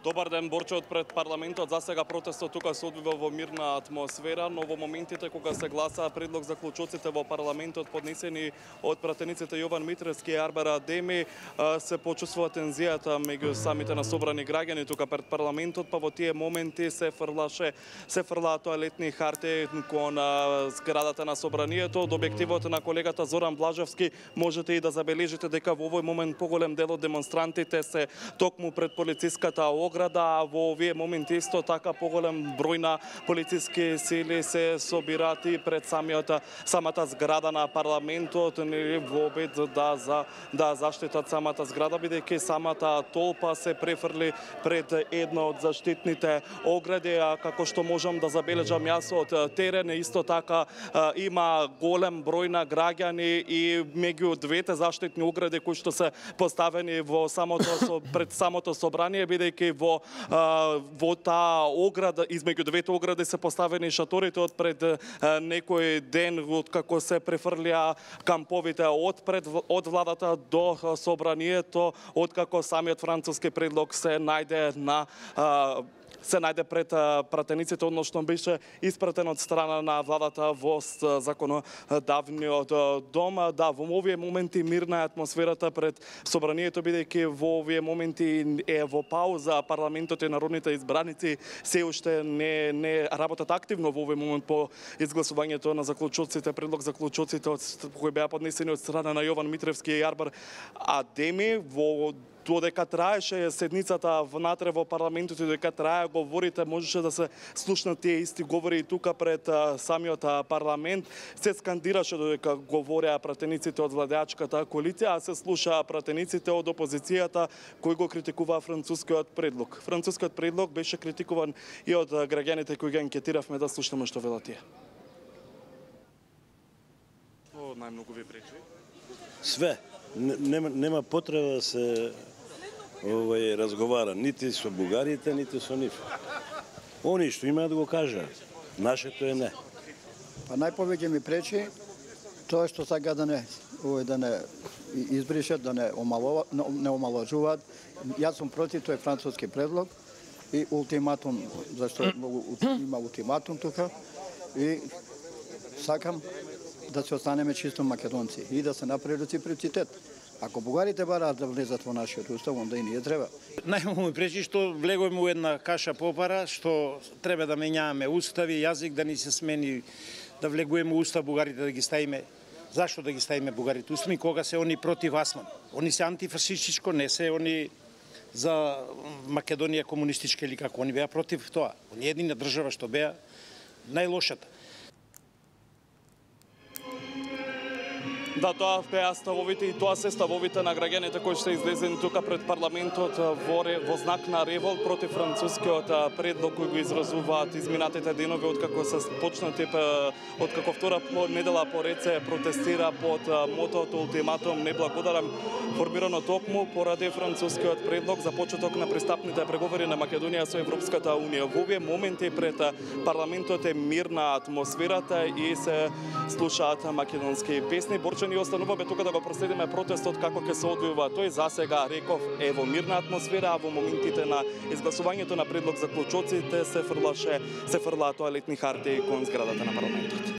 Добар ден, Борче, пред парламентот. За сега протестот тука се одвива во мирна атмосфера, но во моментите кога се гласа предлог заклучоците во парламентот поднесени од пратениците Јован Митревски и Арбара Адеми, се почувствува тензијата меѓу самите насобрани граѓани тука пред парламентот, па во тие моменти се фрлаат тоалетни харти кон зградата на собранието. Од објективот на колегата Зоран Блажевски можете и да забележите дека во овој момент поголем дел од демонстрантите се токму пред полициската ограда, а во овие моменти исто така поголем број на полициски сили се собираат и пред самата зграда на парламентот во обид да заштитат самата зграда, бидејќи самата толпа се префрли пред една од заштитните огради, а како што можам да забележам јас од терен, исто така има голем број на граѓани и меѓу двете заштитни огради кои што се поставени пред самото собрание, бидејќи во таа ограда, измеѓу двете огради се поставени шаторите од пред некој ден, како се префрлија камповите од владата до собранието, откако самиот француски предлог се најде пред пратениците, односно беше испратен од страна на владата во законодавниот дом. Да, во овие моменти мирна е атмосферата пред собранието, бидејќи во овие моменти е во пауза, парламентот и народните избраници се уште не работат активно во овој момент по изгласувањето на заклучоците, предлог заклучоците кои беа поднесени од страна на Јован Митревски и Арбар Адеми. Додека траеше седницата внатре во парламентот и додека трае говорите, можеше да се слушнат тие исти говори и тука пред самиот парламент. Се скандираше додека говореа пратениците од владеачката коалиција, а се слушаа пратениците од опозицијата кои го критикуваа францускиот предлог. Францускиот предлог беше критикуван и од граѓаните кои ги анкетиравме, да слушнеме што велат тие. Што најмногу ви пречи? Све. Нема потреба да се разговара нити со бугарите, нити со нив. Они што имаат да го кажат, нашето е не. Па најповеќе ми пречи тоа што сака да не избришат, да не омалажуваат. Јас сум против тој француски предлог и ултиматум, зашто има ултиматум тука, и сакам да се останеме чисто македонци и да се направи реципроцитет. Ако бугарите бараат да влезат во нашиот устав, онда и ние треба. Најмногу ми пречи што влегуваме во една каша попара, што треба да менјаваме устави, јазик да ни се смени, да влегуваме устав бугарите да ги ставиме. Зашто да ги ставиме бугарите устави кога се они против Асман? Они се антифашистичко, не се они за Македонија комунистичка или како, они беа против тоа. Они едина држава што беа најлошата. Да, тоа беа ставовите и тоа се ставовите на граѓаните кои се излезени тука пред парламентот во знак на револт против францускиот предлог кој го изразуваат изминатите денови откако се почнати, откако втора недела поред се протестира под мотото ултиматум не благодарам, формирано токму поради францускиот предлог за почеток на пристапните преговори на Македонија со Европската унија. Во овие моменти пред парламентот е мирна атмосферата и се слушаат македонски песни. Борче, ни остануваме тука да го проследиме протестот како ќе се одвива тој. За сега, реков, е во мирна атмосфера, а во моментите на изгласувањето на предлог за клучоците се фрлаат тоалетни харти кон зградата на парламентот.